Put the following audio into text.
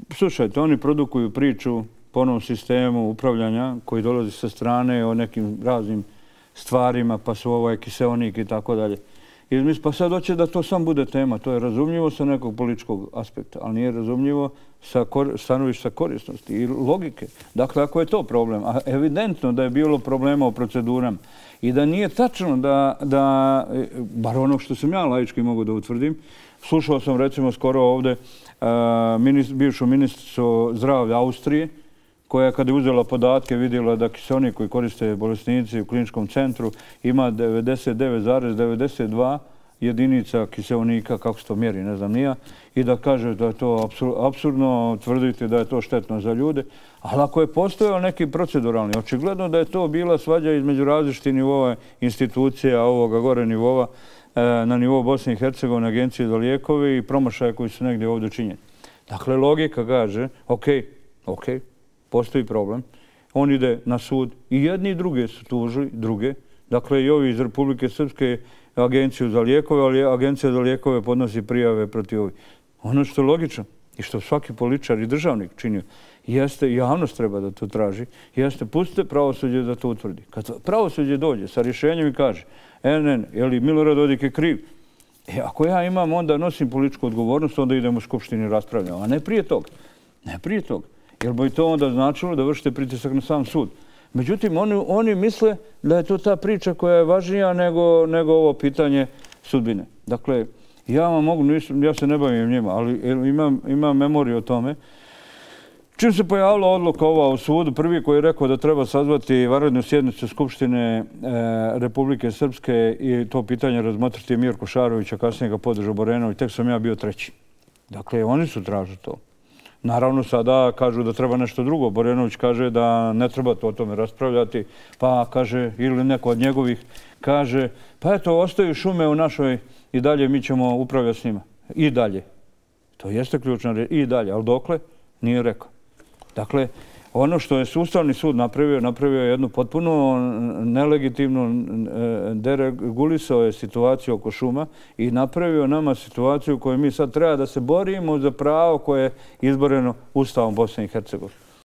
Slušajte, oni produkuju priču po onom sistemu upravljanja koji dolazi sa strane o nekim raznim stvarima, pa su ovaj kiseonik i tako dalje. Pa sad hoće da to sam bude tema. To je razumljivo sa nekog političkog aspekta, ali nije razumljivo sa stanovišta korisnosti i logike. Dakle, ako je to problem, a evidentno da je bilo problema u procedurama i da nije tačno da bar ono što sam ja laički mogu da utvrdim, slušao sam recimo skoro ovde bivšu ministricu zdravlja Austrije, koja kada je uzela podatke vidjela da kiseonik koji koriste bolesnici u kliničkom centru ima 99,92 jedinica kiseonika, kako se to mjeri, ne znam nija, i da kaže da je to apsurdno tvrditi da je to štetno za ljude. Ali ako je postojao neki proceduralni, očigledno da je to bila svađa između različitih nivova institucija, ovoga gore nivova, na nivou Bosne i Hercegovine, Agencije za lijekove i promašaje koji su negdje ovdje činjeni. Dakle, logika kaže, ok, postoji problem. On ide na sud i jedni i druge su tužili, druge. Dakle, i ovi iz Republike Srpske Agenciju za lijekove, ali Agencija za lijekove podnosi prijave protiv ovih. Ono što je logično i što svaki političar i državnik činio, jeste, javnost treba da to traži, jeste, pustite pravosuđe da to utvrdi. Kad pravosuđe dođe sa rješenjem i kaže, je li Milorad Dodik je kriv? Ako ja imam, onda nosim političku odgovornost, onda idem u Skupštini i raspravljam, a ne prije toga. Ne prije toga. Jer bi to onda značilo da vršite pritisak na sam sud. Međutim, oni misle da je to ta priča koja je važnija nego ovo pitanje sudbine. Dakle, ja se ne bavim njima, ali imam memoriju o tome. Čim se pojavila odluka ova u sudu, prvi koji je rekao da treba sazvati vanrednu sjednicu Skupštine Republike Srpske i to pitanje razmotriti je Mirko Šarović, a kasnije ga podržao Borenović, tek sam ja bio treći. Dakle, oni su tražili to. Naravno, sada kažu da treba nešto drugo. Borenović kaže da ne treba o tome raspravljati, pa kaže, ili neko od njegovih kaže, pa eto, ostaju šume u našoj i dalje mi ćemo upravljati s njima. I dalje. To jeste ključna riječ. I dalje. Ali dokle? Nije rekao. Dakle, ono što je Ustavni sud napravio je jednu potpuno nelegitimnu, deregulisao je situaciju oko šuma i napravio nama situaciju u kojoj mi sad treba da se borimo za pravo koje je izboreno Ustavom Bosne i Hercegovine.